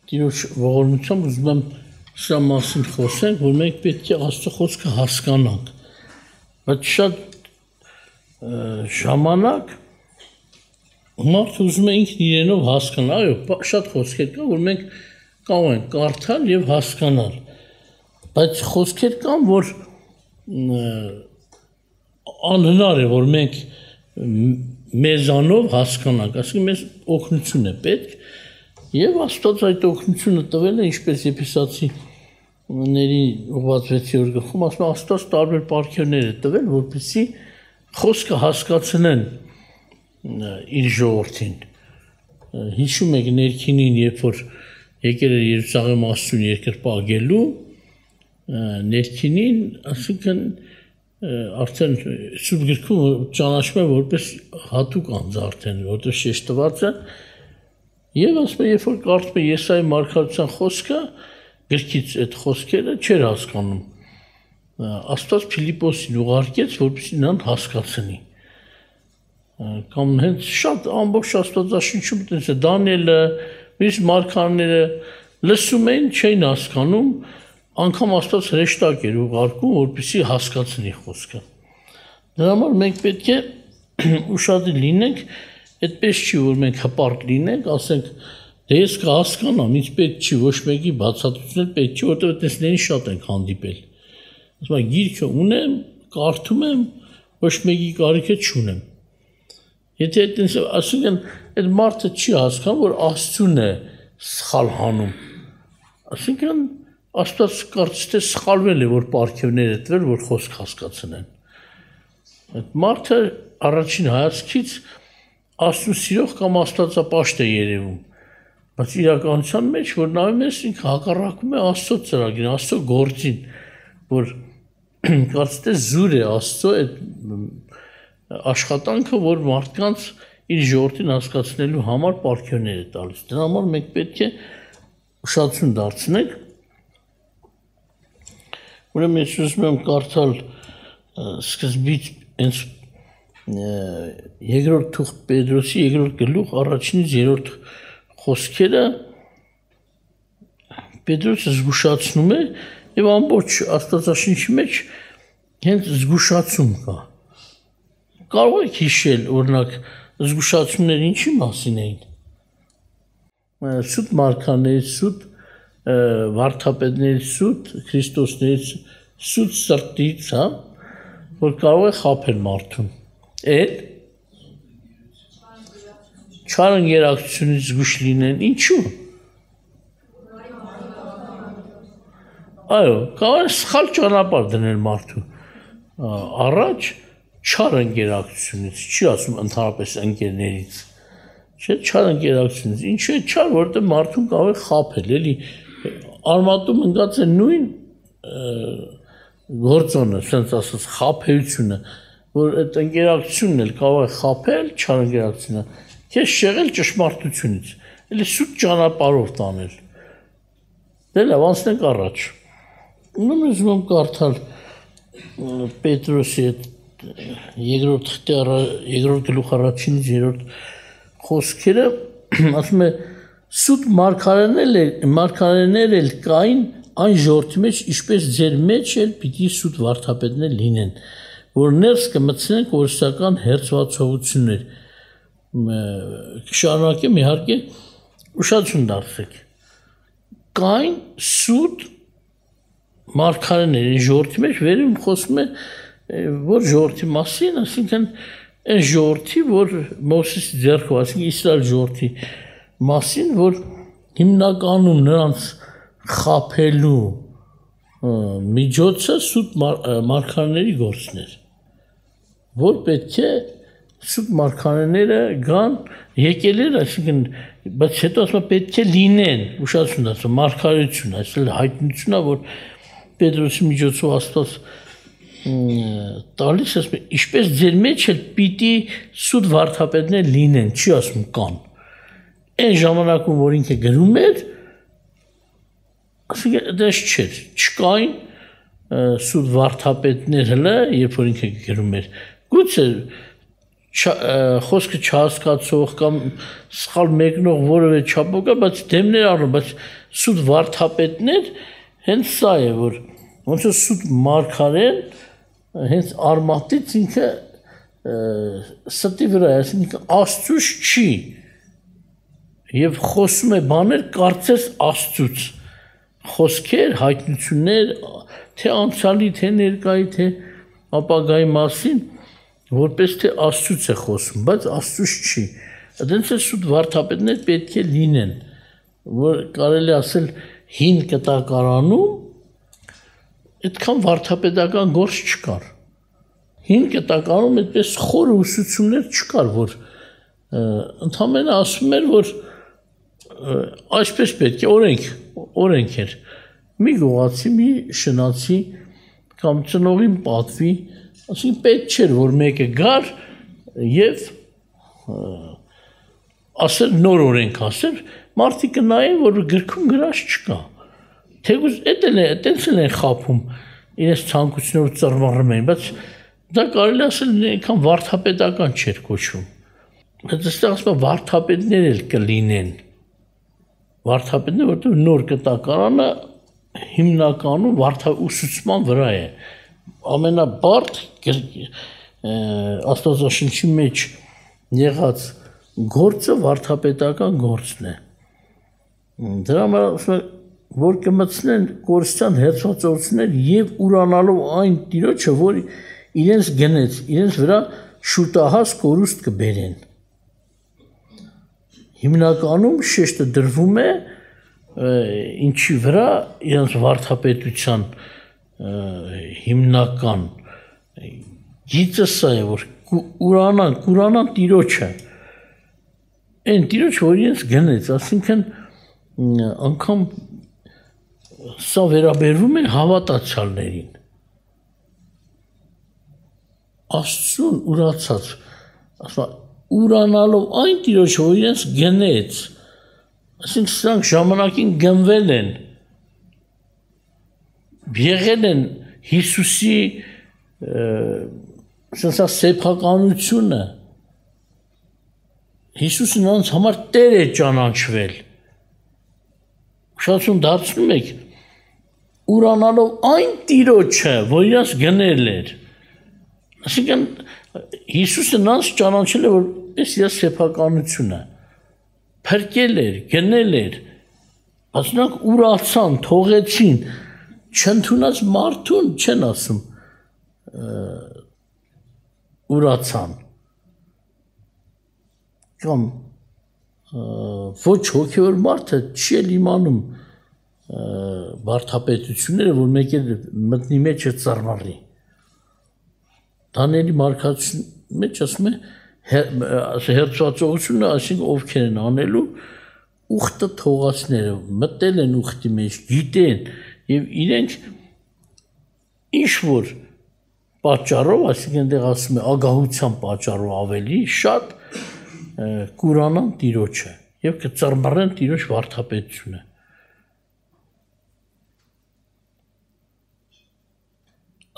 Տիրոջ ողորմությամբ ուզում եմ սրա մասին խոսենք, որ մենք պետք է Աստծո խոսքը հասկանանք, բայց շատ ժամանակ մարդը ուզում է ինքն իրենով հասկանալ, այո, շատ խոսքեր կա, որ մենք կարող ենք կարդալ եւ հասկանալ, բայց խոսքեր կան, որ անհնար է, որ մենք մեզանով հասկանանք, ասենք մեզ օգնություն է պետք եւ Աստված այդ օգնությունը տվել է, ինչպես Եփեսացիների ուղղված 6-րդ գլխում ասում է, Աստված տարբեր պարգևներ է տվել, որպեսզի խոսքը հասկացնեն իր ժողովրդին։ Հիշում եք ներքինին, երբ որ եկել էր Երուսաղեմ Աստծուն երկրպագելու, ներքինին, ասիկան արդեն Սուրբ գրքում ճանաչվում է որպես հատուկ անձ արդեն, որտեղ շեշտված է, եւ ասում է, երբ որ կարդում է Եսայի մարգարության խոսքը, գրքից այդ խոսքերը չէր հասկանում։ Աստված Փիլիպոսին ուղարկեց, որպեսզի նրան հասկացնի։ Կամ հենց շատ ամբողջ Աստվածաշնչում տես է Դանիելը, մյուս մարգարեները լսում էին, չէին հասկանում, անգամ Աստված հրեշտակ էր ուղարկում, որպեսզի հասկացնի խոսքը։ Դրա համար մենք պետք է ուշադիր լինենք, այդպես չի, որ մենք հպարտ լինենք, ասենք, դե ես կհասկանամ, ինձ պետք չի, ոչ մեկի բացատրություն պետք չի, որտեղ տեսներին շատ ենք հանդիպել։ Ասում եմ, գիրքը ունեմ, կարդում եմ, ոչ մեկի կարիքը չունեմ։ Եթե այդպես ասենք, այդ մարդը չի հասկանում, որ Աստծուն է սխալ հանում։ Ասենք, Աստված կարծես թե սխալվել է, որ պարգևներ է տվել, որ խոսք հասկացնեն։ Այդ մարդը առաջին հայացքից Աստծուն սիրող կամ աստվածապաշտ է երևում, բայց իրականության մեջ, որ նայում ես, ինքը հակառակում է Աստծո ծրագիրին, Աստծո գործին, որ կարծես թե զուր է Աստծո այդ աշխատանքը, որ մարդկանց իր ժողովրդին հասկացնելու համար պարգևներ է տալիս։ Դրա համար մենք պետք է ուշադրություն դարձնենք։ Ուրեմն ես ուզում եմ կարդալ սկզբից հենց երկրորդ թուղթ Պետրոսի երկրորդ գլուխ առաջինից երրորդ խոսքերը Պետրոսը զգուշացնում է եւ ամբողջ Աստվածաշնչի մեջ հենց զգուշացում կա։ Կարող եք հիշել, օրինակ, զգուշացումները ինչի մասին էին։ Սուտ մարգարեներից, սուտ վարդապետներից, սուտ Քրիստոսներից, սուտ սրտից, հա, որ կարող է խաբել մարդուն։ Էլ չարընկերակցությունից զգուշ լինեն, ինչու։ Այո, կարող է սխալ ճանապարհ դնել մարդու առաջ չարընկերակցությունից, չի ասում ընդհանրապես ընկերներից, չէ, չարընկերակցությունից, ինչու է չար, որովհետև մարդուն կարող է խաբել, էլի արմատում ընկած է նույն գործոնը, ասենց ասած, խաբեությունը, որ այդ ընկերակցությունն էլ կարող է խաբել, չարընկերակցությունը, քեզ շեղել ճշմարտությունից, էլի սուտ ճանապարհով տանել։ Դե լավ, անցնենք առաջ։ Ուրեմն ուզում եմ կարդալ Պետրոսի երկրորդ գլուխ առաջինից երրորդ խոսքերը, ասում է, սուտ մարգարեներ էլ կային այն ժողովրդի մեջ, ինչպես ձեր մեջ էլ պիտի սուտ վարդապետներ լինեն, որ ներս կմտցնեն կորսական հերձվածողություններ։ Շարունակեմ, իհարկե, ուշադրություն դարձրեք։ Կային սուտ մարգարեներ ժողովրդի մեջ, վերում խոսում է, որ ժողովրդի մասին, այսինքն այն ժողովրդի, որ Մովսեսի ձեռքով, այսինքն Իսրայել ժողովրդի մասին, որ հիմնականում նրանց խաբելու միջոցը սուտ մարգարեների գործն էր, որ պետք է սուտ մարգարեները գան, եկել էր, այսինքն, բայց հետո ասում է պետք է լինեն, ուշադրություն ասում, մարգարեություն, այսինքն հայտնությունն է, որ Պետրոսի միջոցով Աստված տալիս, ասում է, ինչպես ձեր մեջ էլ պիտի սուտ վարդապետներ լինեն, չի ասում կան։ Այն ժամանակում, որ ինքը գրում էր, ասում դες չէր, չկային սուտ վարդապետներ հլը, երբ որ ինքը գրում էր։ Գուցե խոսքը չհասկացող կամ սխալ մեկնող որևէ չափով կա, բայց դեմներ առնում, բայց սուտ վարդապետներ հենց սա է, որ ոնց որ սուտ մարգարեն հենց արմատից ինքը ստի վրա է, այսինքն Աստծուց չի եւ խոսում է բաներ կարծես Աստծուց խոսքեր, հայտնություններ, թե անցյալի, թե ներկայի, թե ապագայի մասին, որպես թե Աստծուց է խոսում, բայց Աստծուց չի։ Այդպես է սուտ վարդապետներ պետք է լինեն, որ կարելի ասել հին կտակարանում այդքան վարդապետական գործ չկար։ Հին կտակարանում այդպես խոր ուսուցումներ չկար, որ ընդհանրապես ասում էր, որ այսպես պետք է օրենք էր։ Մի գողացի, մի շնացի կամ ծնողին պատվի, ասենք պետք չէր, որ մեկը գար եւ ասել նոր օրենք ասել, մարդիկ նայեն, որ գրքում գրած չկա։ Թեգուզ այդպես են խափում իրենց ցանկությունով ծռմռում են, բայց դա կարելի ասել այնքան վարդապետական չէր կոչվում։ Բայց այստեղ ասում եմ վարդապետներ էլ կլինեն։ Վարդապետներ, որտեղ նոր կտակարանը հիմնականում ուսուցման վրա է։ Ամենաբարդ Աստվածաշնչի մեջ եղած գործը վարդապետական գործն է։ Դրա համար ասում եմ, որ կմտցնեն կորստյան հերթվածություններ եւ ուրանալով այն տիրոջը, որ իրենց գնեց, իրենց վրա շուտահաս կորուստ կբերեն։ Հիմնականում շեշտը դրվում է ինչի վրա իրենց վարդապետության հիմնական գիծը սա է, որ ուրանան տիրոջը, այն տիրոջ, որ իրենց գնեց, ասինքն անգամ սա վերաբերվում է հավատացյալներին։ Աստծուն ուրացած, ասում ուրանալով այն տիրոջ, որ իրենց գնեց, ասենք սրանք ժամանակին գնվել են, եղել են Հիսուսի սեփականությունը, Հիսուսը նրանց համար Տեր է ճանաչվել, ուշադրություն դարձնում եք, ուրանալով այն տիրոջը, որ իրենց գնել էր, ասիկան Հիսուսը նրանց ճանաչել է, որ այս իր սեփականությունը փրկել էր, գնել էր, բայց նրանք ուրացան, թողեցին, չընդունած մարդուն չեն ասում ուրացան, կամ ոչ հոգևոր մարդը չի էլ իմանում վարդապետությունները, որ մեկ էլ մտնի մեջը ծռմռի։ Դանիելի մարգարեության մեջ ասում է հերթվածողությունը, այսինքն ովքեր են անելու ուխտը թողածները, մտել են ուխտի մեջ, գիտեն եւ իրենք ինչ որ պատճառով, այսինքն այնտեղ ասում է ագահության պատճառով ավելի շատ կուրանան տիրոջը եւ կծռմռեն տիրոջ վարդապետությունը։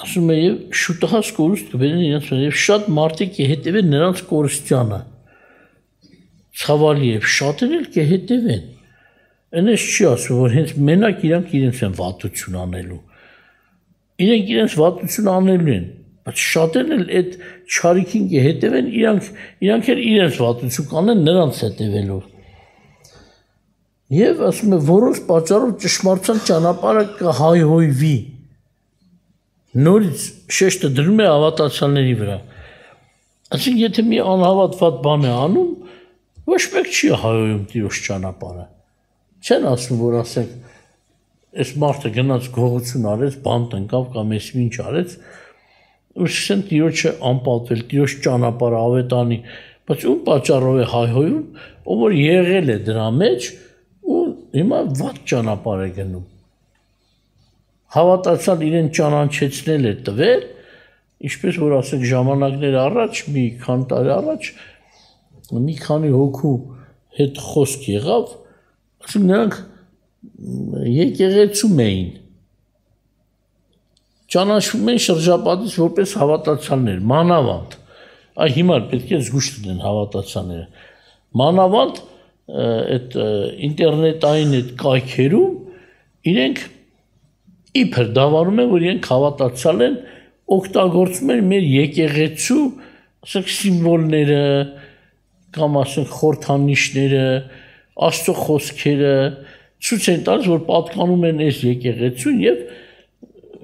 Ասում է եւ շուտահաս կորուստ կբերեն իրենց եւ շատ մարդիկ կհետևեն նրանց կորստյանը։ Ցավալի է, շատեր էլ կհետևեն։ Այնպես չի ասում, որ հենց մենակ իրանք իրենց են վատություն անելու։ Իրենք իրենց վատություն անելու են, բայց շատերն էլ այդ չարիքին կհետևեն, իրանք էլ իրենց վատություն կանեն նրանց հետևելով։ Եվ ասում է, որոնց պատճառով ճշմարտության ճանապարհը կհայհոյվի։ Նորից շեշտը դրում է հավատացյալների վրա։ Այսինքն եթե մի անհավատված բան է անում, ոչ մեկ չի հայհոյում Տիրոջ ճանապարհը։ Չեն ասում, որ ասենք այս մարդը գնաց գողություն արեց, բան տնկավ կամ էս ինչ արեց, ու սկսեն Տիրոջը անպատվել, Տիրոջ ճանապարհը ավետանի, բայց ում պատճառով է հայհոյում, ով որ եղել է դրա մեջ ու հիմա վատ ճանապարհ է գնում։ Հավատացյալ իրեն ճանաչեցնել է տվել, ինչպես որ ասենք ժամանակներ առաջ, մի քանի տարի առաջ, մի քանի հոգու հետ խոսք եղավ, ասենք նրանք եկեղեցում էին, ճանաչվում են շրջապատից որպես հավատացյալներ, մանավանդ, այ հիմա պետք է զգուշ լինեն հավատացյալները, մանավանդ այդ ինտերնետային այդ կայքերում իրենք իբր դավանում են, որ իրենք հավատացյալ են, օգտագործում են մեր եկեղեցու ասենք սիմվոլները կամ ասենք խորհրդանիշները, Աստծո խոսքերը ցույց են տալիս, որ պատկանում են այս եկեղեցուն եւ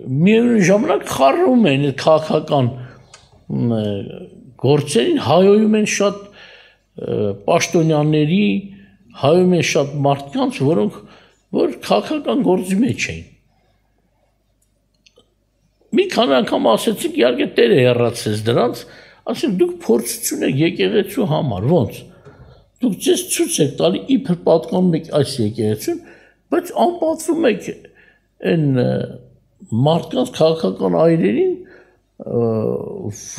միևնույն ժամանակ խառնում են այդ քաղաքական գործերին, հայոյում են շատ պաշտոնյաների, հայոյում են շատ մարդկանց, որոնք որ քաղաքական գործի մեջ էին։ Մի քանի անգամ ասեցինք, իհարկե Տերը հեռացեց դրանց, ասենք դուք փորձություն եք եկեղեցու համար, ոնց։ Դուք ձեզ ցույց եք տալի իբր պատկանում եք այս եկեղեցուն, բայց անպատվում եք այն մարդկանց քաղաքական այրերին,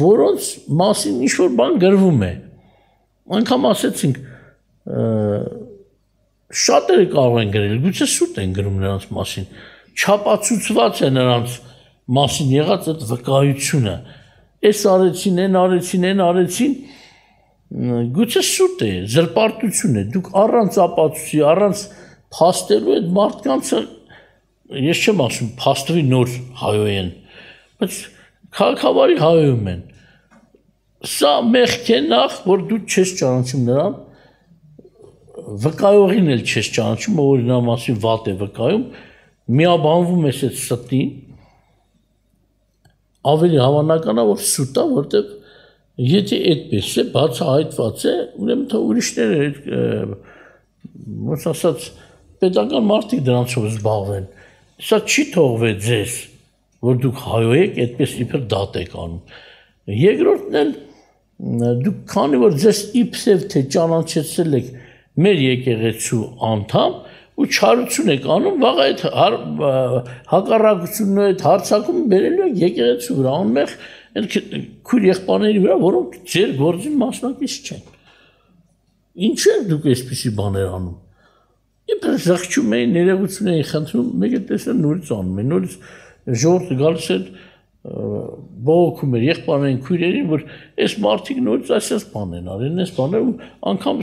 որոնց մասին ինչ-որ բան գրվում է։ Անգամ ասեցինք, շատերը կարող են գրել, գուցե սուտ են գրում նրանց մասին, չապացուցված է նրանց մասին եղած այդ վկայությունը, այս արեցին, այն արեցին, այն արեցին, գուցե սուտ է, զրպարտություն է, դուք առանց ապացույցի, առանց փաստելու այդ մարդկանցը, ես չեմ ասում, փաստվի նոր հայոյեն, բայց քաղաքավարի հայոյում են, սա մեղք է նախ, որ դու չես ճանաչում նրան, վկայողին էլ չես ճանաչում, որ նա մասին վատ է վկայում, միաբանվում ես այդ ստին, ավելի հավանական է, որ սուտ է, որտեղ եթե այդպես է, բացահայտված է, ուրեմն թե ուրիշները, ոնց ասած, պետական մարդիկ դրանցով զբաղվեն։ Սա չի թողվել ձեզ, որ դուք հայոյ եք, այդպես իբր դատ եք անում։ Երկրորդն էլ դուք քանի որ ձեզ իբսև թե ճանաչեցել եք մեր եկեղեցու անդամ ու չարություն եք անում, վաղ այդ հակառակությունն ու այդ հարցակումը բերելու եք եկեղեցու վրա, անմեղ քույր եղբայրների վրա, որոնք ձեր գործին մասնակից չեն։ Ինչու եք դուք այսպիսի բաներ անում։ Իբր զղջում էին, ներողություն էին խնդրում, մեկը տեսել նորից անում են, նորից ժողովուրդը գալիս էր բողոքում էր եղբայրներին, քույրերին, որ այս մարդիկ նորից այսպես բան են արել, այս բաներ ու անգամ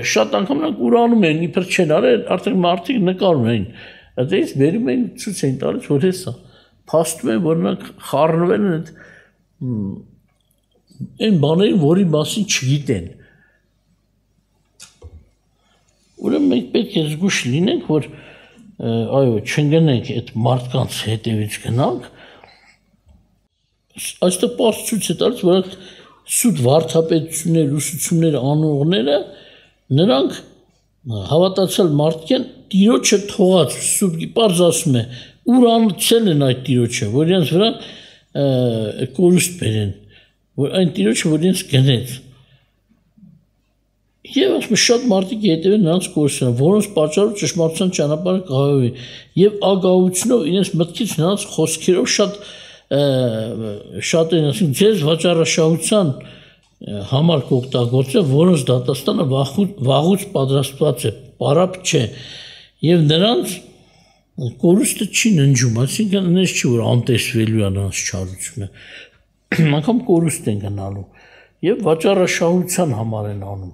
շատ անգամ նրանք ուրանում են, իբր չեն արել, արդեն մարդիկ նկարում էին։ Այդպես վերում էին ցույց էին տալիս, որ հեսա փաստում են, որ նրանք խառնվել են այն բաներին, որի մասին չգիտեն։ Ուրեմն մենք պետք է զգույշ լինենք, որ այո, չընկնենք այդ մարդկանց հետևից գնանք։ Այստեղ պարզ ցույց է տալիս, որ սուտ վարդապետություններ, ուսուցումներ անողները նրանք հավատացյալ մարդիկ են, Տիրոջը թողած սուտ պարզ ասում է, ուրանցել են այդ Տիրոջը, որ իրենց վրա կորուստ բերեն, որ այն Տիրոջը, որ իրենց գնեց։ Եվ ասում շատ մարդիկ հետևեն նրանց կորուսան, որոնց պատճառով ճշմարտության ճանապարհը կհայովի, եւ ագահությունով իրենց մտքից նրանց խոսքերով շատ են ասում, ձեզ վաճառաշահության համար կօգտագործել, որոնց դատաստանը վաղուց պատրաստված է, պարապ չէ, եւ նրանց կորուստը չի ննջում, այսինքն այնպես չի, որ անտեսվելու է նրանց չարությունը, անգամ կորուստ են գնալու եւ վաճառաշահության համար են անում,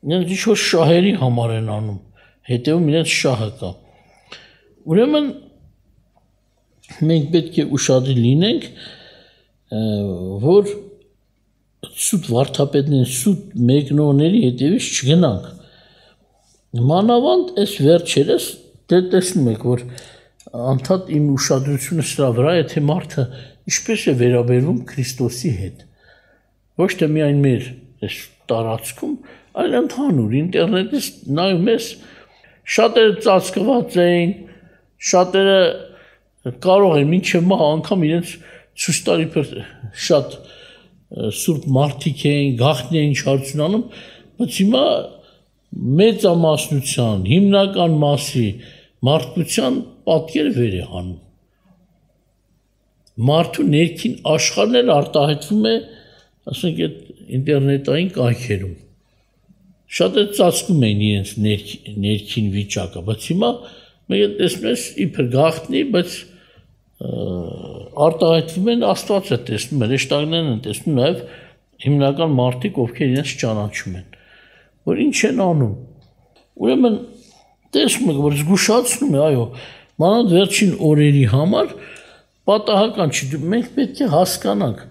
իրենց ինչ-որ շահերի համար են անում, հետեւում իրենց շահը կա։ Ուրեմն մենք պետք է ուշադիր լինենք, որ սուտ վարդապետներին, սուտ մեկնողների հետևից չգնանք։ Մանավանդ այս վերջերս տեսնում եք, որ անդադ իմ ուշադրությունը սրա վրա է, թե մարդը ինչպես է վերաբերվում Քրիստոսի հետ։ Ոչ թե միայն մեր այս տարածքում, այլ ընդհանուր ինտերնետից նայում ես, շատերը ծածկված էին, շատերը կարող են մինչև մահ անգամ իրենց ցույց տալ իբր շատ սուրբ մարդիկ էին, գաղտնի էին չարություն անում, բայց հիմա մեծամասնության, հիմնական մասի մարդկության պատկերը վեր է հանում։ Մարդու ներքին աշխարհն էլ արտահայտվում է, ասենք այդ ինտերնետային կայքերում։ Շատերը ծածկում էին իրենց ներքին վիճակը, բայց հիմա մենք տեսնում ենք իբր գաղտնի, բայց արտահայտվում են Աստվածը տեսնում են, հեշտարներն են տեսնում նաև հիմնական մարդիկ, ովքեր իրենց ճանաչում են։ որ ինչ են անում։ Ուրեմն տեսնում եք, որ զգուշացնում է, այո, մանավանդ վերջին օրերի համար պատահական չի, մենք պետք է հասկանանք։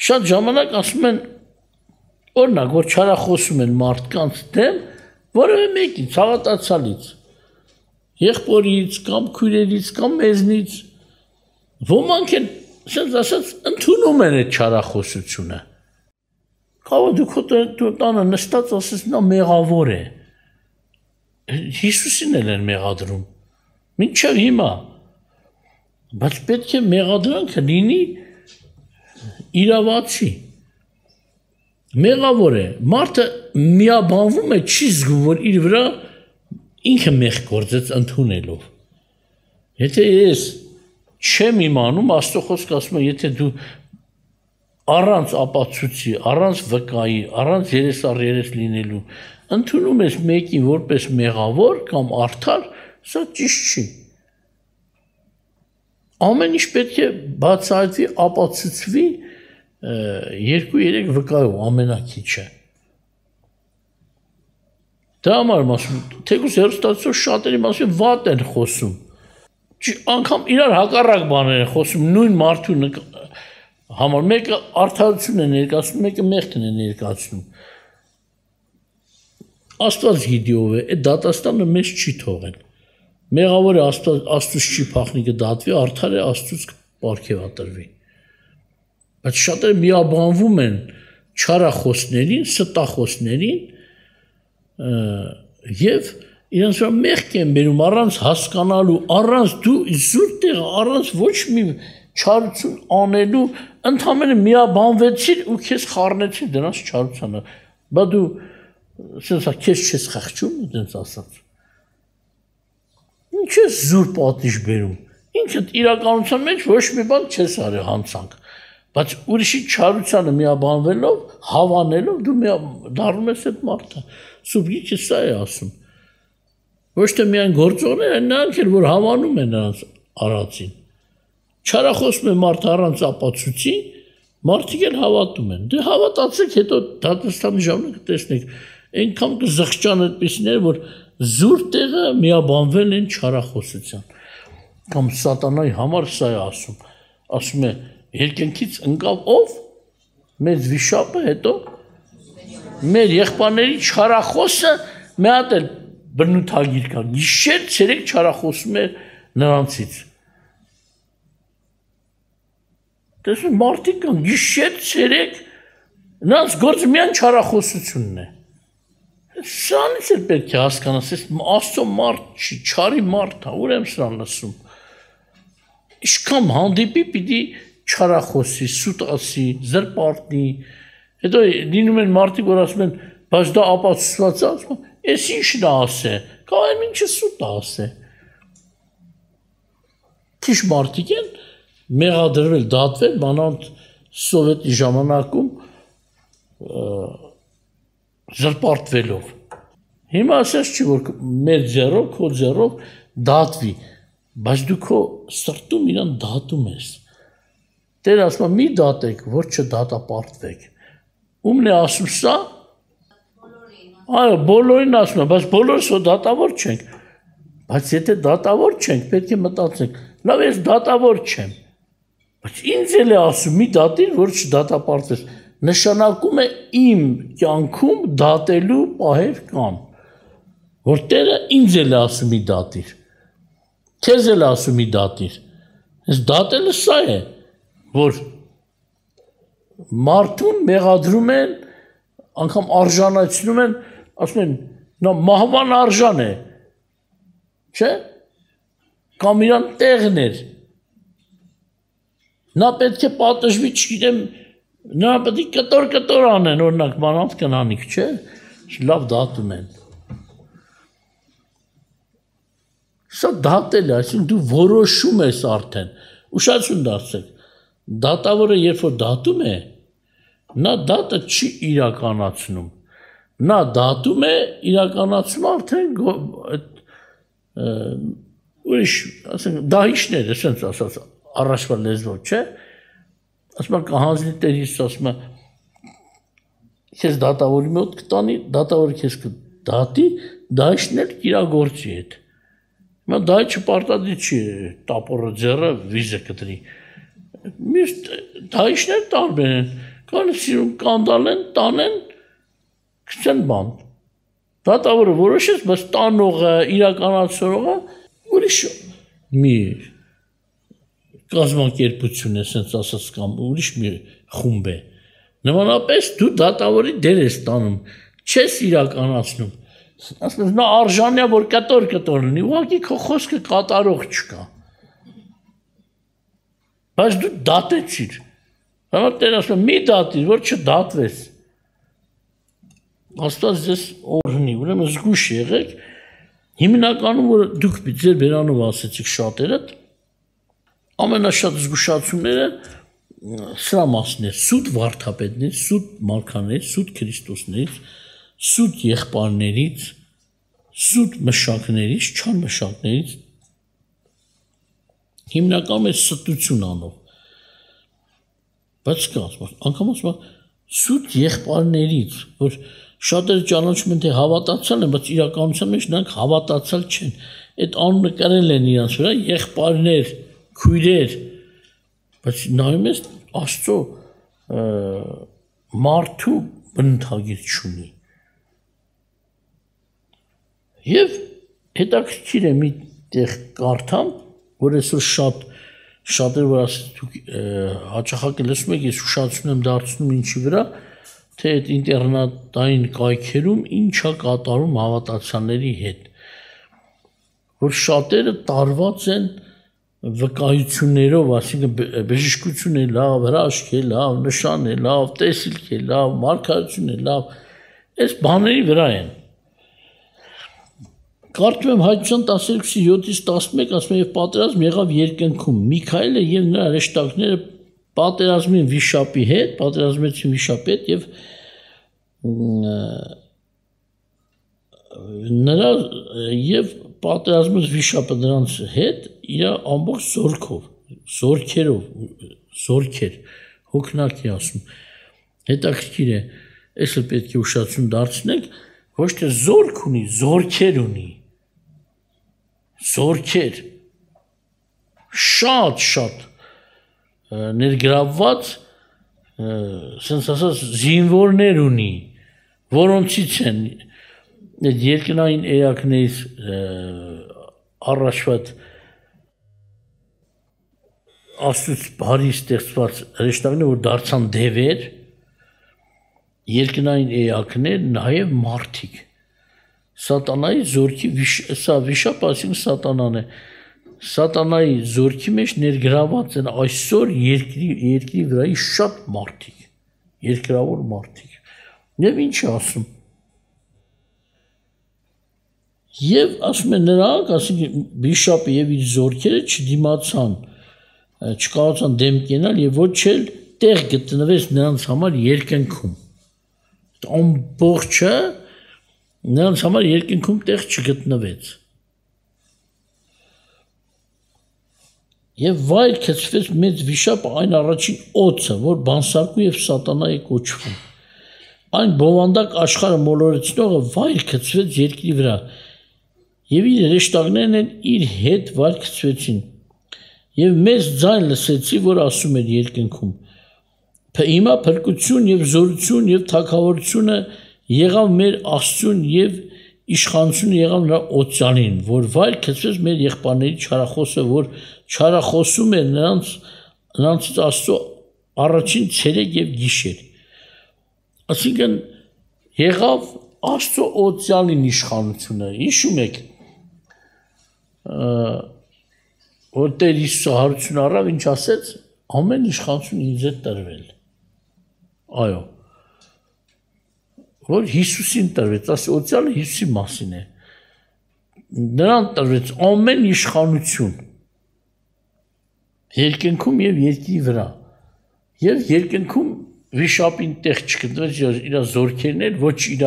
Շատ ժամանակ ասում են, օրինակ, որ չարախոսում են մարդկանց դեմ, որևէ մեկից, հավատացյալից, եղբորից, կամ քույրերից, կամ մեզնից, ոմանք են, ասած ասած, ընդունում են այդ չարախոսությունը։ Կարող դու քո տանը նստած ասես նա մեղավոր է։ Հիսուսին էլ են մեղադրում։ Մինչև հիմա։ Բայց պետք է մեղադրանքը լինի իրավացի։ Մեղավոր է։ Մարդը միաբանվում է, չի զգում, որ իր վրա ինքը մեղք գործեց ընդունելով։ Եթե ես չեմ իմանում, Աստծո խոսքը ասում է, եթե դու առանց ապացույցի, առանց վկայի, առանց երես լինելու, ընդունում ես մեկին որպես մեղավոր կամ արդար, սա ճիշտ չի։ Ամեն ինչ պետք է բացահայտվի, ապացուցվի 2-3 վկայով ամենակիչը։ Դա համար եմ ասում, թեկուզ հեռուստացիով շատերի մասին վատ են խոսում։ Անգամ իրար հակառակ բաներ են խոսում, նույն մարդու համար, մեկը արդարություն է ներկայացնում, մեկը մեղքն է ներկայացնում։ Աստված գիտի ով է, այդ դատաստանը մեզ չի թողել։ Մեղավոր է Աստծուց չի փախնի կդատվի, արդար է Աստծուց պարգևատրվի։ Բայց շատերը միաբանվում են չարախոսներին, ստախոսներին եւ իրենց վրա մեղք են բերում առանց հասկանալու, առանց դու զուր տեղ, առանց ոչ մի չարություն անելու, ընդհանրապես միաբանվեցիր ու քեզ խառնեցին դրանց չարությանը։ Բա դու ասես քեզ չես խղճում, դենց ասած։ Ինչ է զուր պատիժ բերում։ Ինքդ իրականության մեջ ոչ մի բան չես արել հանցանք։ Բայց ուրիշի չարությանը միաբանվելով, հավանելով դու դառնում ես այդ մարդը։ Սուրբ Գիրքը սա է ասում։ Ոչ թե միայն գործողները, նրանք էլ որ հավանում են նրանց արածին։ Չարախոսում է մարդը առանց ապացույցի, մարդիկ էլ հավատում են։ Դե հավատացեք, հետո դատաստանի ժամանակ տեսնեք, այնքան կզղջան այդպիսիներ, որ զուր տեղը միաբանվել են չարախոսության։ Կամ սատանայի համար սա է ասում։ Ասում է, երկնքից ընկավ ով? Մեծ վիշապը, հետո մեր եղբայրների չարախոսը մի հատ էլ բնութագիր կա։ Գիշեր ցերեկ չարախոսում է նրանցից։ Տեսնում մարդիկ կան գիշեր ցերեկ նրանց գործը միայն չարախոսությունն է։ Սրանից էլ պետք է հասկանաս, Աստծո մարդ չի, չարի մարդ է, ուր եմ սրան լսում։ Իշքան հանդիպի պիտի չարախոսի, սուտ ասի, զրպարտի, հետո լինում են մարդիկ, որ ասում են, բայց դա ապացուցված է, ասում են, ես ինչն է ասե, կայեմ ինչը սուտ է ասե։ Քիչ մարդիկ են մեղադրվել, դատվել, մանավանդ սովետի ժամանակում զրպարտվելով։ Հիմա ասես չի, որ մեր ձեռով, քո ձեռով դատվի, բայց դու քո սրտում իրան դատում ես։ Տերը ասում է մի դատեք, որ չդատապարտվեք։ Ումն է ասում սա։ Այո, բոլորին ասում է, բայց բոլորս ու դատավոր չենք։ Բայց եթե դատավոր չենք, պետք է մտածենք, լավ ես դատավոր չեմ։ Բայց ինձ էլ է ասում մի դատիր, որ չդատապարտվես։ Նշանակում է իմ կյանքում դատելու պահեր կան։ Որ Տերը ինձ էլ է ասում մի դատիր։ Քեզ էլ ասում մի դատիր։ Այս դատելը սա է, որ մարդուն մեղադրում են, անգամ արժանացնում են, ասում են, նա մահվան արժան է, չէ՞, կամ իրան տեղն էր, նա պետք է պատժվի, չգիտեմ, նա պետք է կտոր անեն, օրինակ մանավանդ կնանիք, չէ՞, լավ դատում են։ Սա դատել է, այսինքն դու որոշում ես արդեն, ուշադրություն դարձեք, դատավորը երբ որ դատում է, նա դատը չի իրականացնում, նա դատում է իրականացում արդեն ուրիշ, ասենք, դահիճներ, ասենց ասած, առաջվա լեզվով, չէ, ասում է կահանձնի տերից, ասում է, քեզ դատավորի մոտ կտանի, դատավորը քեզ կդատի, դահիճն էլ իրագործի հետ։ Հիմա դահիճը պարտադիր չի տապորը ձեռը վիզը կտրի։ Մյուս դահիճներ տարբեր են, կան սիրում կանդալեն, տանեն, կցեն բան։ Դատավորը որոշեց, բայց տանողը, իրականացնողը ուրիշ մի կազմակերպություն է, ասենց ասած կամ ուրիշ մի խումբ է։ Նմանապես դու դատավորի դեր ես տանում, չես իրականացնում։ Ասես նա արժանյա որ կտոր լինի, ուղղակի քո խոսքը կատարող չկա։ Բայց դու դատեցիր։ Համար տեր ասում մի դատիր, որ չդատվես։ Աստված ձեզ օրհնի, ուրեմն զգույշ եղեք։ Հիմնականում որ դուք ձեր բերանով ասեցիք շատերդ, ամենաշատ զգուշացումները սրա մասն է, սուտ վարդապետներից, սուտ մարգարեներից, սուտ քրիստոսներից, սուտ եղբայրներից, սուտ մշակներից, չան մշակներից հիմնականում է ստություն անող։ Բայց կա, անգամ ասում սուտ եղբայրներից, որ շատերը ճանաչում են թե հավատացյալ են, բայց իրականության մեջ նրանք հավատացյալ չեն։ Այդ անունը կրել են իրանց վրա եղբայրներ, քույրեր, բայց նայում ես Աստծո մարդու բնութագիր չունի։ Եվ հետաքրքիր է մի տեղ կարդամ, որ այսօր շատերը որ ասած դուք հաճախակի լսում եք, ես ուշադրություն եմ դարձնում ինչի վրա, թե այդ ինտերնետային կայքերում ինչա կատարում հավատացյալների հետ, որ շատերը տարված են վկայություններով, այսինքն բժշկություն է լավ, հրաշք է լավ, նշան է լավ, տեսիլք է լավ, մարգարեություն է լավ, այս բաների վրա են։ Կարդում եմ Հայտնության 12:7-11 ասում է եւ պատերազմ եղավ երկնքում։ Միքայելը եւ նրա հրեշտակները պատերազմին վիշապի հետ, պատերազմեցին վիշապի հետ եւ նրա եւ պատերազմած վիշապը նրանց հետ իր ամբողջ զորքեր հոգնակի ասում։ Հետաքրքիր է, այսը պետք է ուշադրություն դարձնենք, ոչ թե զորք ունի, զորքեր ունի։ Զորքեր շատ ներգրավված ասենց ասած զինվորներ ունի, որոնցից են այդ երկնային էակներից առաջվա Աստծուց բարի ստեղծված հրեշտակներ, որ դարձան դևեր, երկնային էակներ, նաև մարդիկ։ Սատանայի զորքի սա վիշապը, այսինքն սատանան է։ Սատանայի զորքի մեջ ներգրաված են այսօր երկրի վրայի շատ մարդիկ, երկրավոր մարդիկ։ Եվ ինչ է ասում։ Եվ ասում են նրանք, ասինքն վիշապը եւ իր զորքերը չդիմացան, չկարողացան դեմ կենալ եւ ոչ էլ տեղ գտնվեց նրանց համար երկնքում։ Ամբողջը նրանց համար երկնքում տեղ չգտնվեց։ Եվ վայր գցվեց մեծ վիշապը այն առաջին օձը, որ բանսարկու եւ սատանայի կոչվում։ Այն բովանդակ աշխարհը մոլորեցնողը վայր գցվեց երկրի վրա, եւ իր հրեշտակներն էլ իր հետ վայր գցվեցին։ Եվ մեծ ձայն լսեցի, որ ասում էր երկնքում. Հիմա փրկություն եւ զորություն եւ թագավորությունը եղավ մեր Աստծուն եւ իշխանությունը եղավ նրա օծանին, որ վայր գցվեց մեր եղբայրների չարախոսը, որ չարախոսում էր նրանցից Աստծո առաջին ցերեկ եւ գիշեր։ Այսինքն եղավ Աստծո օծանին իշխանությունը։ Հիշում եք, որ Տեր Հիսուսը հարություն առավ, ինչ ասեց, ամեն իշխանություն ինձ է տրվել։ Այո, որ Հիսուսին տրվեց, ասի օծյալը Հիսուսի մասին է։ Նրան տրվեց ամեն իշխանություն երկնքում եւ երկրի վրա։ Եվ երկնքում վիշապին տեղ չգտնվեց իր զորքերն էլ, ոչ իր,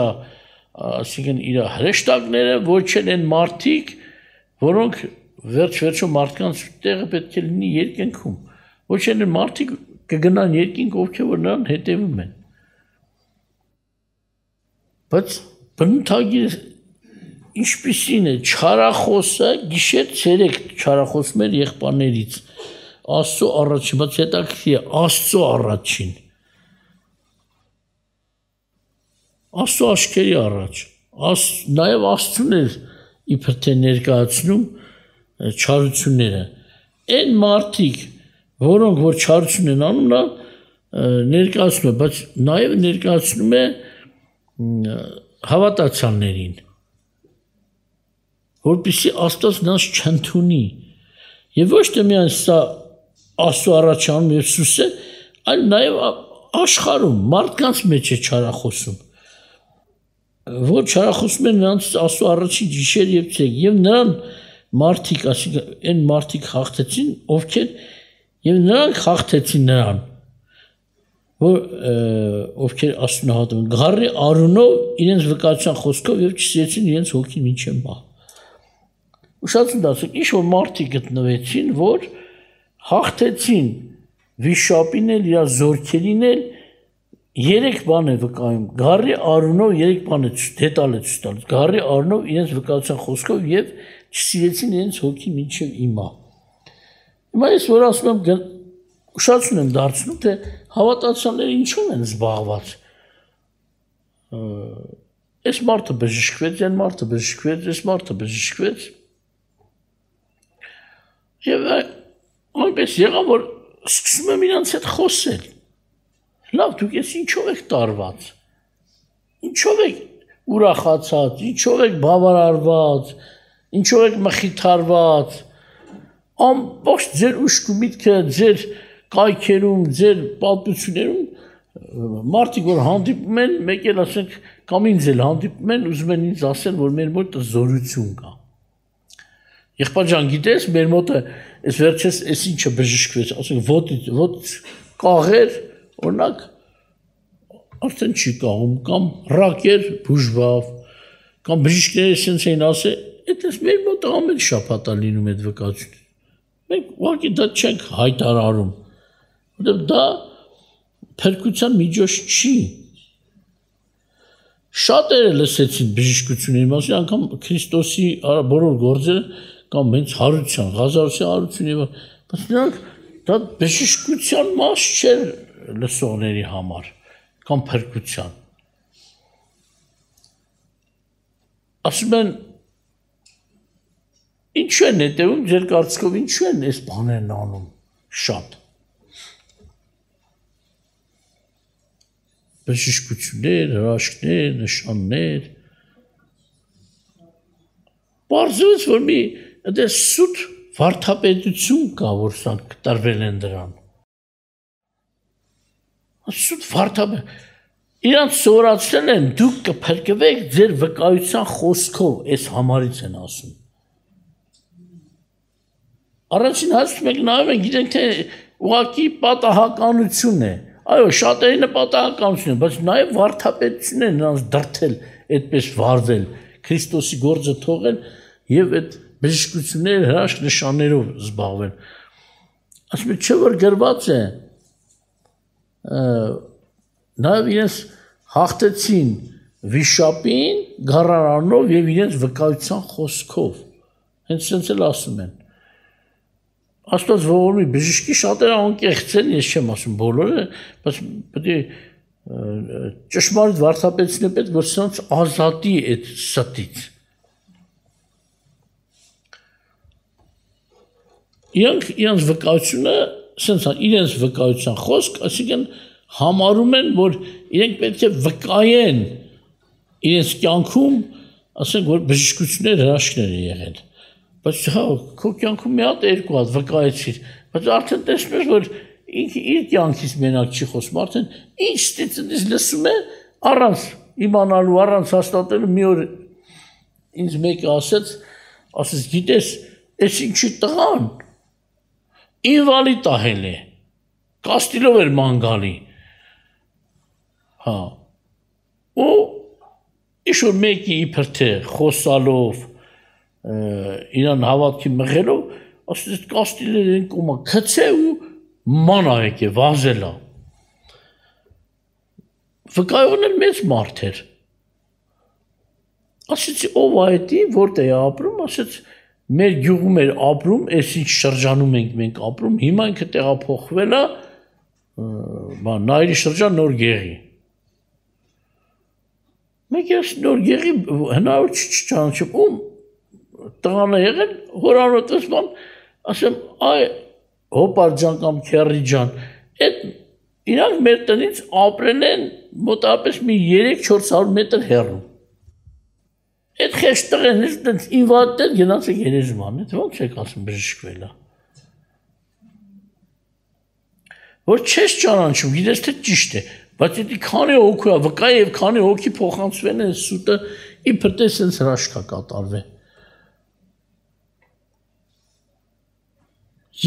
ասինքն իր հրեշտակները, ոչ էլ են մարդիկ, որոնք վերջ-վերջո մարդկանց տեղը պետք է լինի երկնքում։ Ոչ էլ են մարդիկ կգնան երկինք, ովքեր որ նրան հետևում են։ բայց բնութագիր ինչպիսին է չարախոսը գիշեր ցերեկ չարախոսում էր եղբայրներից Աստծո առաջին, բայց հետաքրքիր է Աստծո առաջին Աստծո աչքերի առաջ նաև Աստծուն էր իբր թե ներկայացնում չարությունները այն մարդիկ որոնք որ չարություն են անում նա ներկայացնում է բայց նաև ներկայացնում է հավատացյալներին որպեսզի Աստված նրանց չընդունի եւ ոչ թե միայն սա Աստծո առաջանում եւ սուսը այլ նաև աշխարհում մարդկանց մեջ է չարախոսում որ չարախոսում են նրանց Աստծո առաջին գիշեր եւ ցերեկ եւ նրան մարդիկ ասիկա այն մարդիկ հաղթեցին ովքեր եւ նրանք հաղթեցին նրան որ ովքեր Աստծուն հավատում են գառի արունով իրենց վկայության խոսքով եւ չսիրեցին իրենց հոգին մինչեւ մահ ուշացում դասեք ինչ որ մարդիկ գտնվեցին որ հաղթեցին վիշապին էլ իր զորքերին էլ երեք բան է վկայում գառի արունով երեք բան է դետալ է ցույց տալիս գառի արունով իրենց վկայության խոսքով եւ չսիրեցին իրենց հոգին մինչեւ իմա հիմա ես որ ասում եմ ուշացնում եմ դարձնում թե հավատացյալները ինչու են զբաղված այս մարդը բժշկվեց այն մարդը բժշկվեց այս մարդը բժշկվեց եւ այնպես եղավ որ սկսում եմ իրանց հետ խոսել լավ դուք ես ինչով եք տարված ինչով եք ուրախացած ինչով եք բավարարված ինչով եք մխիթարված ամբողջ ձեր ուշք ու միտքը ձեր կայքերում ձեր պատմություններում մարդիկ որ հանդիպում են մեկ էլ ասենք կամ ինձ էլ հանդիպում են ուզում են ինձ ասել որ մեր մոտ զորություն կա եղբայր ջան գիտես մեր մոտը այս վերջերս այս ինչը բժշկվեց ասենք ոտ կաղեր օրինակ արդեն չի կաղում կամ ռակեր բուժվավ կամ բժիշկները sense էին ասել այդպես մեր մոտ ամեն շաբաթ է լինում այդ վկայությունը մենք ուղղակի դա չենք հայտարարում որտեղ դա փրկության միջոց չի շատերը լսեցին բժշկությունների մասին անգամ Քրիստոսի բոլոր գործերը կամ հենց հարություն Ղազարոսի հարություն եւ բայց նրանք դա բժշկության մաս չէր լսողների համար կամ փրկության ասում են ինչու են հետևում ձեր կարծիքով ինչու են այս բաներն անում շատ բժշկություններ հրաշքներ նշաններ բարձրաց որ մի այդպես սուտ վարդապետություն կա որ սա կտրվել են դրան սուտ վարդապետ իրանց սովորացրել են դուք կփրկվեք ձեր վկայության խոսքով այս համարից են ասում Առաջին հաշվի մենք նայում ենք գիտենք թե ուղղակի պատահականություն է այո շատերի նպատակականություն է բայց նաև վարդապետություն է նրանց դրթել այդպես վարվել Քրիստոսի գործը թողել եւ այդ բժշկություններ հրաշք նշաններով զբաղվել ասում եմ չէ որ գրված է նաև իրենց հաղթեցին վիշապին գառարանով եւ իրենց վկայության խոսքով հենց sense էլ ասում են Աստված ողորմի բժշկի շատերը անկեղծ են, ես չեմ ասում բոլորը, բայց պետք է ճշմարիտ վարդապետությունը պետք որ սրանց ազատի այդ ստից։ Իրենց վկայությունը, սենց իրենց վկայության խոսք, այսինքն համարում են, որ իրենք պետք է վկայեն իրենց կյանքում, ասենք որ բժշկություններ հրաշքներ են եղել։ Բայց հա քո կյանքում մի հատ երկու հատ վկայեցիր, բայց արդեն տեսնում ես որ իր կյանքից մենակ չի խոսում, արդեն ինչ ստիծից լսում է առանց իմանալու, առանց հաստատելու մի օր ինձ մեկը ասեց գիտես, այս ինչի տղան ինվալիդ ահել է, կաստիլով էր ման գալի, հա, ու ինչ-որ մեկի իբր թե խոսալով, իրան հավատքի մղելով, ասես կաստիլեր են կոմա, քցե ու ման այք է, վազելա, վկայողն էլ մեծ մարդ էր, Ասեցի ով այդի, որտեղ է ապրում, ասեց մեր գյուղում էր ապրում, այս ինչ շրջանում ենք մենք ապրում, հիմա ինքը տեղափոխվել է Նայիրի շրջան Նոր Գեղի։ Մենք ես Նոր Գեղի հնարավոր չճանաչում, ում տղան է եղել, հորանոտես բան, ասեմ, այ հոպար ջան կամ քերի ջան, այդ իրանք մեր տնից ապրել են մոտավորապես մի 3-400 մետր հեռու։ Այդ խեշ տղեն ես ինվատել գնաց է գերեզման, այդ ոնց եք ասում բժշկվել է։ Որ չես ճանաչում, գիտես թե ճիշտ է, բայց դա քանի հոգի է, վկա եւ քանի հոգի փոխանցվել են սուտը, իբր թե sense հրաշքա կատարվել։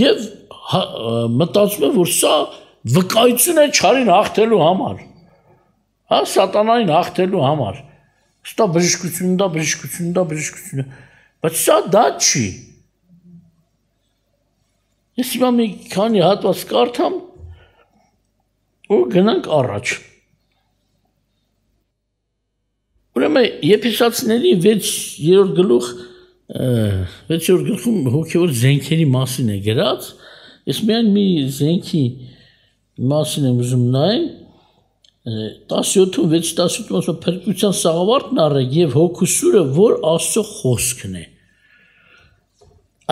Եվ մտածում եմ, որ սա վկայություն է չարին հաղթելու համար։ Հա, սատանային հաղթելու համար։ Ստա բժշկություն, բայց սա դա չի։ Ես հիմա մի քանի հատված կարդամ ու գնանք առաջ։ Ուրեմն Եփեսացիների 6-րդ գլխում հոգևոր զենքերի մասին է գրած։ Ես միայն մի զենքի մասին եմ ուզում նայել 17-ում 6-17-ում ասում փրկության սաղավարտն առեք եւ հոգու սուրը, որ Աստծո խոսքն է։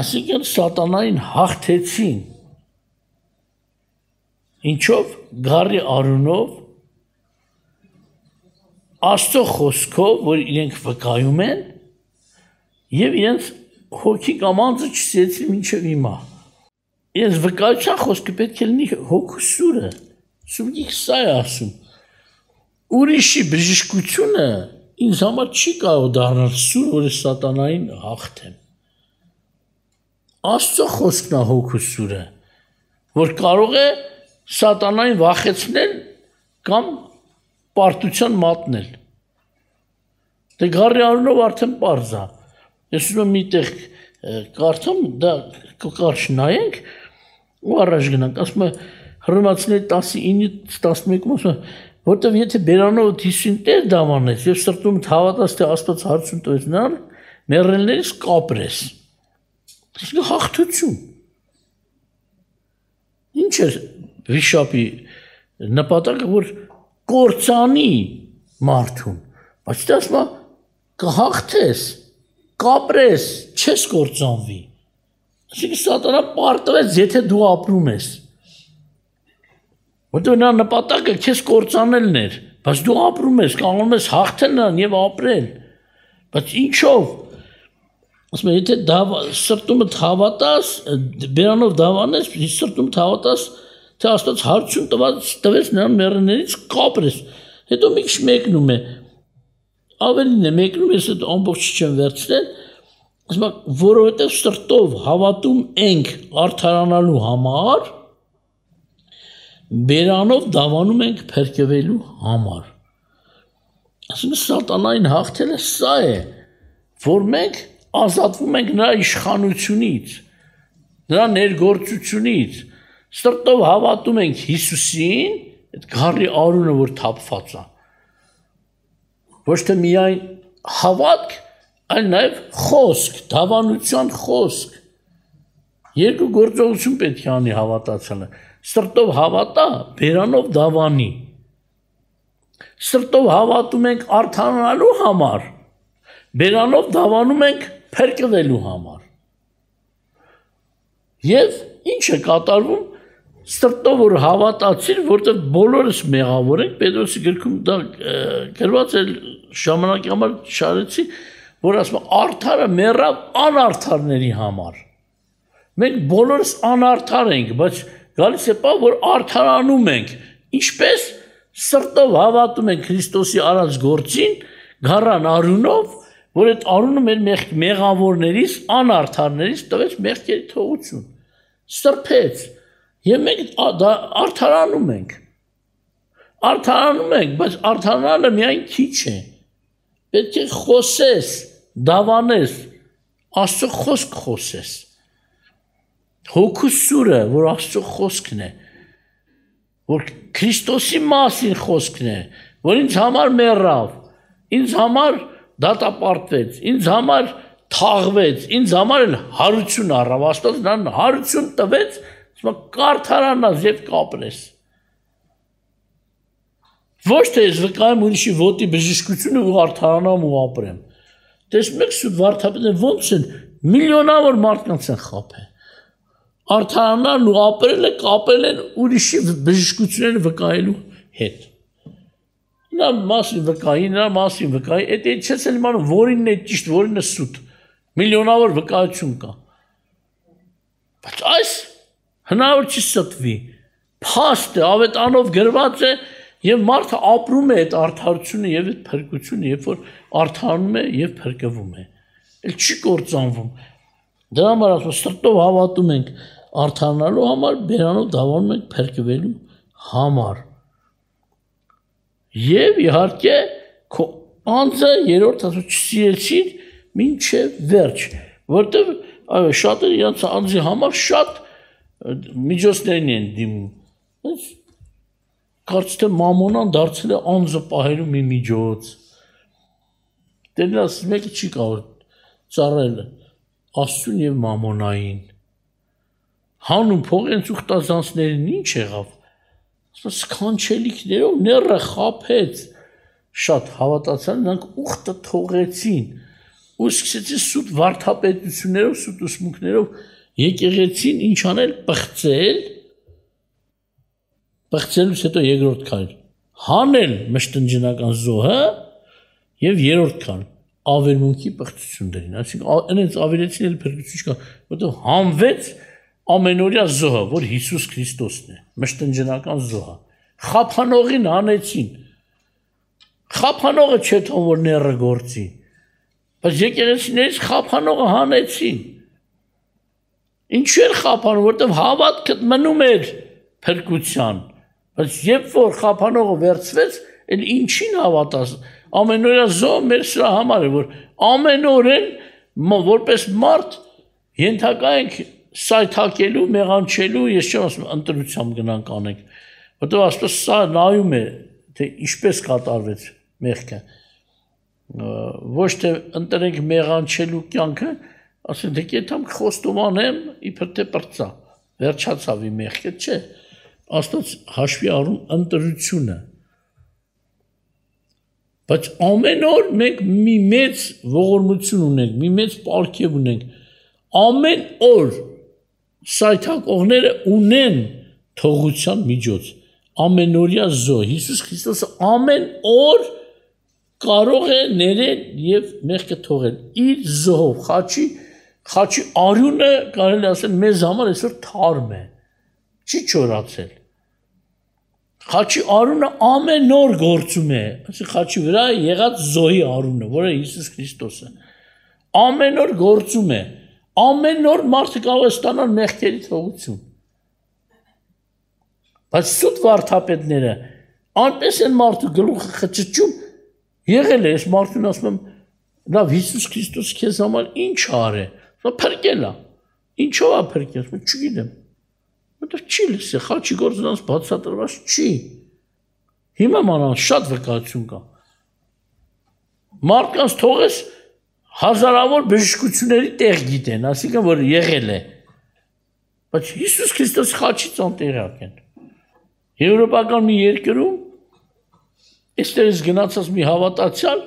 Այսինքն սատանային հաղթեցին։ Ինչով գարի արունով Աստծո խոսքով, որ իրենք վկայում են եւ իրենց հոգի կամ անձը չսեցին մինչեւ հիմա։ Իրենց վկայության խոսքը պետք է լինի հոգու սուրը։ Սուրը սա է ասում։ Ուրիշի բժշկությունը ինձ համար չի կարող դառնալ սուր, որ սատանային հաղթեմ։ Աստծո խոսքն է հոգու սուրը, որ կարող է սատանային վախեցնել կամ պարտության մատնել։ Դե գարի արունով արդեն պարզ է։ Ես ուզում եմ միտեղ կարդամ, դա կարճ նայենք ու առաջ գնանք։ Ասում է Հռոմեացիների 19-11-ում ասում է, որտեվ եթե բերանով դիսին տեր դավանես եւ սրտում հավատաս թե Աստված հարցուն տվեց նրան, մեռելներից կապրես։ Իսկ հաղթություն։ Ինչ է վիշապի նպատակը, որ կործանի մարդուն, բայց դա ասում է կհաղթես, կապրես, չես կործանվի։ Այսինքն սատանա պարտվեց, եթե դու ապրում ես։ Որտեղ նա նպատակը քեզ կործանելն էր, բայց դու ապրում ես, կարող ես հաղթել նրան եւ ապրել։ Բայց ինչով։ Ասում եմ, եթե սրտումդ հավատաս, բերանով դավանես, սրտումդ հավատաս, թե Աստված հարցուն տվեց նրան մեռելներից կապրես։ Հետո մի քիչ մեկնում է։ Ավելին է մեկնում, ես այդ ամբողջ չեմ վերցնել։ Ասում եմ, որովհետեւ սրտով հավատում ենք արդարանալու համար, բերանով դավանում ենք փրկվելու համար։ Այսինքն սատանային հաղթելը սա է, որ մենք ազատվում ենք նրա իշխանությունից, նրա ներգործությունից, սրտով հավատում ենք Հիսուսին, այդ գարի արունը, որ թափված է։ Ոչ թե միայն հավատք, այլ նաև խոսք, դավանության խոսք։ Երկու գործողություն պետք է անի հավատացյալը։ Սրտով հավատա, բերանով դավանի։ Սրտով հավատում ենք արդարանալու համար, բերանով դավանում ենք փրկվելու համար։ Եվ ինչ է կատարվում, սրտով որ հավատացիր, որտեղ բոլորս մեղավոր ենք, Պետրոսի գրքում դա գրված է ժամանակի համար շարեցի, որ ասում է արդարը մեռավ անարդարների համար։ Մենք բոլորս անարդար ենք, բայց գալիս է պահ, որ արդարանում ենք, ինչպես սրտով հավատում ենք Քրիստոսի արած գործին, գառան արունով, որ այդ արունը մեր մեղավորներից, անարդարներից տվեց մեղքերի թողություն, սրբեց, եւ մենք արդարանում ենք, բայց արդարանալը միայն քիչ է, պետք է խոսես, դավանես, Աստծո խոսք խոսես, հոգու սուրը, որ Աստծո խոսքն է, որ Քրիստոսի մասին խոսքն է, որ ինձ համար մեռավ, ինձ համար դատապարտվեց, ինձ համար թաղվեց, ինձ համար էլ հարություն առավ, Աստված նրան հարություն տվեց, ասում կարդարանաս եւ կապրես։ Ոչ թե ես վկայեմ ուրիշի ոտի բժշկությունը ու արդարանամ ու ապրեմ։ Տեսնում եք սուտ վարդապետները ոնց են միլիոնավոր մարդկանց են խաբել։ Արդարանան ու ապրելը կապել են ուրիշի բժշկությունները վկայելու հետ։ Նա մասին վկայի, այդ չես էլ իմանում որինն է ճիշտ, որինն է սուտ։ Միլիոնավոր վկայություն կա։ Բայց այս հնարավոր չի ստվի։ Փաստ է, ավետանով գրված է եւ մարդը ապրում է այդ արդարությունը եւ այդ փրկությունը, երբ որ արդարանում է եւ փրկվում է։ Էլ չի կործանվում։ Դրա համար ասում սրտով հավատում ենք արդարանալու համար, բերանով դավանում ենք փրկվելու համար։ Եվ իհարկե քո անձը երրորդ ասում չսիրեցին մինչև վերջ, որտեղ այո շատերը իրենց անձի համար շատ միջոցներին են դիմում։ Կարծես թե մամոնան դարձել է անձը պահելու մի միջոց։ Դերնաս մեկը չի կարող ծառայել Աստծուն եւ մամոնային։ Հանուն փողենց ուխտազանցներին ինչ եղավ։ Սքանչելիքներով ները խափեց։ Շատ հավատացան, նրանք ուխտը թողեցին։ Ու սկսեցին սուտ վարդապետություններով, սուտ ուսմունքներով եկեղեցին ինչ անել, պղծելուց հետո երկրորդ քայլ հանել մշտնջնական զոհը եւ երրորդ քայլ ավերմունքի պղծություններին, այսինքն այնց ավերեցին էլ փրկություն չկա, որտեղ հանվեց ամենօրյա զոհը, որ Հիսուս Քրիստոսն է, մշտնջնական զոհը։ Խափանողին հանեցին։ Խափանողը չէ թող որ ները գործի, բայց եկեղեցիներից խափանողը հանեցին։ Ինչու էր խափանում, որտեղ հավատքը մնում էր փրկության, բայց երբ որ խափանողը վերցվեց, էլ ինչին հավատաս, ամենօրյա զոհը մեր սրա համար է, որ ամենօրեն որպես մարդ ենթակա ենք սայթակելու, մեղանչելու, ես չեմ ասում ընտրությամբ գնանք անենք, որտեղ ասես սա նայում է, թե ինչպես կատարվեց մեղքը, ոչ թե ընտրենք մեղանչելու կյանքը, ասեն թե կետամ խոստովանեմ, իբր թե պրծա, վերջացավ իմ մեղքը, չէ, Աստված հաշվի առում ընտրությունը, բայց ամեն օր մենք մի մեծ ողորմություն ունենք, մի մեծ պարգև ունենք, ամեն օր սայթակողները ունեն թողության միջոց, ամենօրյա զոհ, Հիսուս Քրիստոսը ամեն օր կարող է ներել եւ մեղքը թողել իր զոհով, խաչի արյունը կարելի ասել մեզ համար այսօր թարմ է, չի չորացել։ Խաչի արյունը ամեն օր գործում է, այսինքն խաչի վրա եղած զոհի արյունը, որը Հիսուս Քրիստոսը, ամեն օր գործում է, ամեն օր մարդը կարող է ստանալ մեղքերի թողություն։ Բայց սուտ վարդապետները անպես են մարդու գլուխը խճճում, եղել է, ես մարդուն ասում եմ, լավ Հիսուս Քրիստոս քեզ համար ինչ արե, փրկել է, ինչով է փրկել, չգիտեմ, որտեղ չի լսել, խաչի գործը նրանց բացատրված չի, հիմա մանավանդ շատ վկայություն կա, մարդկանց թողես հազարավոր բժշկությունների տեղ գիտեն, այսինքն որ եղել է, բայց Հիսուս Քրիստոս խաչից անտեղյակ են, եվրոպական մի երկրում, այստեղից գնացած մի հավատացյալ,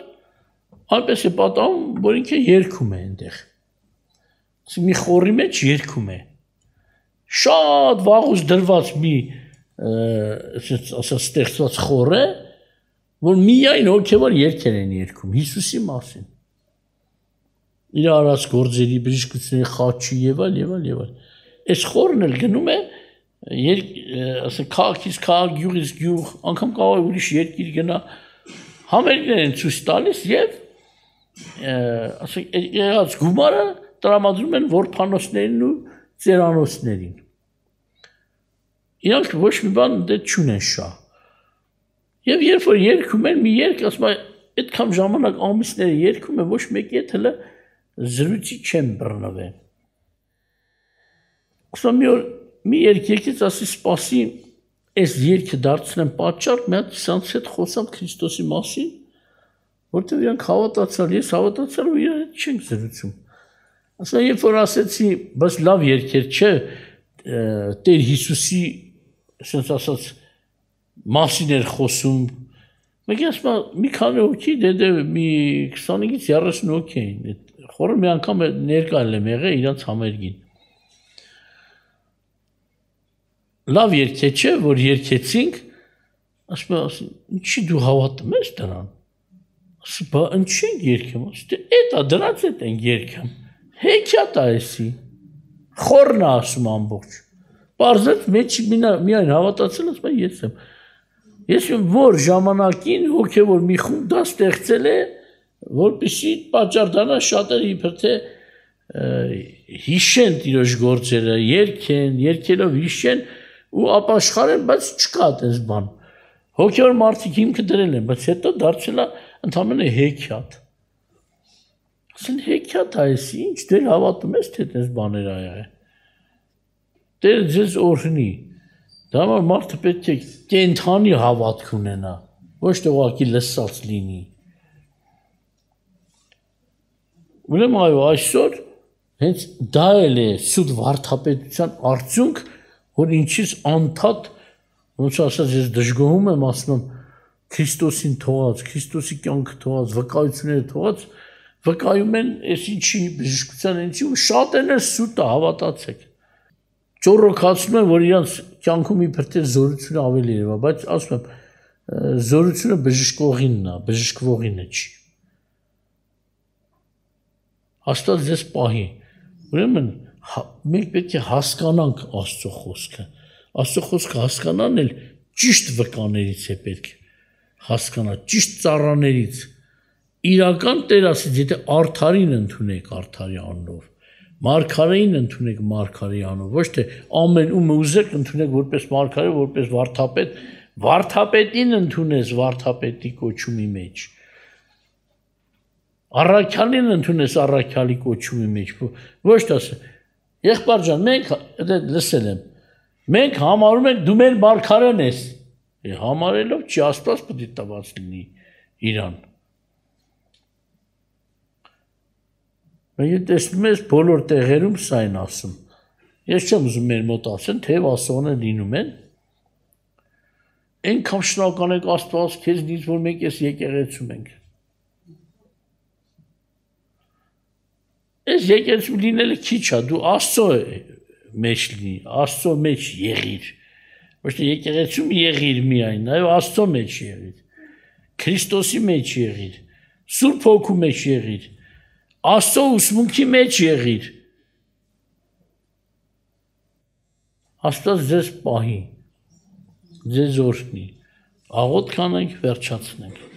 այնպես է պատահում, որ ինքը երգում է այնտեղ, մի խորի մեջ երգում է, շատ վաղուց դրված մի ստեղծված խոր է, որ միայն հոգևոր երգեր են երգում, Հիսուսի մասին, իր արած գործերի, բժշկությունների խաչի եւ այլ, այս խորն էլ գնում է, քաղաքից քաղաք, գյուղից գյուղ, անգամ կարող է ուրիշ երկիր գնա, համերգներ են ցույց տալիս եւ եղած գումարը տրամադրում են որբանոցներին ու ծերանոցներին։ Իրանք ոչ մի բան դե չունեն շահ։ Եվ երբ որ երգում են մի երգ, ասում է, այդքան ժամանակ ամիսները երգում են, ոչ մեկի հետ հələ զրույցի չեն բռնվել։ Ասում մի օր մի երգ եկեց, ասի սպասի, այս երգը դարձնեմ պատճառ, մի հատ սրանց հետ խոսամ Քրիստոսի մասին, որտեղ իրանք հավատացալ, ես հավատացալ ու իրար հետ չենք զրուցում։ Ասա երբ որ ասեցի, բայց լավ երգեր չէ, Տեր Հիսուսի, ասենց ասած, մասին էր խոսում։ Մեկ ասում մի քանի հոգի, դե մի 25-ից 30 հոգի էին։ Խորը մի անգամ ներկա եմ եղել իրանց համերգին։ Լավ երգ չէ, որ երգեցինք, ասում եմ, ինչի դու հավատում ես դրան։ Ասում բա ինչի ենք երգում, ասում էտա դրանց հետ ենք երգում։ Հեքիաթ է էսի։ Խորն է ասում ամբողջ։ Պարզեց մեջ միայն հավատացել, ասում ես եմ։ Ես որ ժամանակին հոգևոր մի խումբ դա ստեղծել է, որպեսզի պատճառ դառնա շատերը իբր թե հիշեն իրոջ գործերը, երգելով հիշեն ու ապաշխարեն, բայց չկա այդպես բան։ Հոգևոր մարդիկ հիմքը դրել են, բայց հետո դարձել է ընդամենը հեքիաթ։ Ասեն հեքիաթ է էսի, ինչ դեր հավատում ես թե այդպես բաներ ա։ Տեր ձեզ օրհնի։ Դա համար մարդը պետք է կենթանի հավատք ունենա, ոչ թե ուղղակի լսած լինի։ Ուրեմն այո, այսօր հենց դա էլ է սուտ վարդապետության արդյունք, որ ինչից անդադ, ոնց ասած ես դժգոհում եմ, ասում եմ Քրիստոսին թողած, Քրիստոսի կյանքը թողած, վկայությունները թողած, վկայում են այս ինչի բժշկության ինչի ու շատերն էլ սուտը հավատացեք։ Ճոռոքացնում են, որ իրանց կյանքում իբր թե զորությունը ավելի է, բայց ասում եմ, զորությունը բժշկողինն է, բժշկվողինը չի։ Աստված ձեզ պահի։ Ուրեմն մենք պետք է հասկանանք Աստծո խոսքը։ Աստծո խոսքը հասկանան էլ ճիշտ վկաներից է պետք հասկանալ, ճիշտ ծառաներից։ Իրական Տեր ասեց, եթե արդարին ընդունեք արդարի անունով, մարգարեին ընդունեք մարգարեի անունով, ոչ թե ամեն ում ուզեք ընդունեք որպես մարգարե, որպես վարդապետ, վարդապետին ընդունես վարդապետի կոչումի մեջ։ Առաքյալին ընդունես առաքյալի կոչումի մեջ, ոչ թե ասես, եղբայր ջան, մենք լսել եմ, մենք համարում ենք դու մեր մարգարեն ես։ Համարելով չի Աստված պետք է տված լինի իրան։ Մենք տեսնում ես բոլոր տեղերում սա են ասում։ Ես չեմ ուզում մեր մոտ ասեն, թեև ասողներ լինում են։ Այնքան շնորհակալ ենք Աստված քեզնից, որ մենք այս եկեղեցում ենք։ Այս եկեղեցում լինելը քիչ է, դու Աստծո մեջ լինի, Աստծո մեջ եղիր։ Ոչ թե եկեղեցում եղիր միայն, այո Աստծո մեջ եղիր։ Քրիստոսի մեջ եղիր, Սուրբ Հոգու մեջ եղիր, Աստծո ուսմունքի մեջ եղիր։ Աստված ձեզ պահի, ձեզ օրհնի։ Աղոթք անենք, վերջացնենք։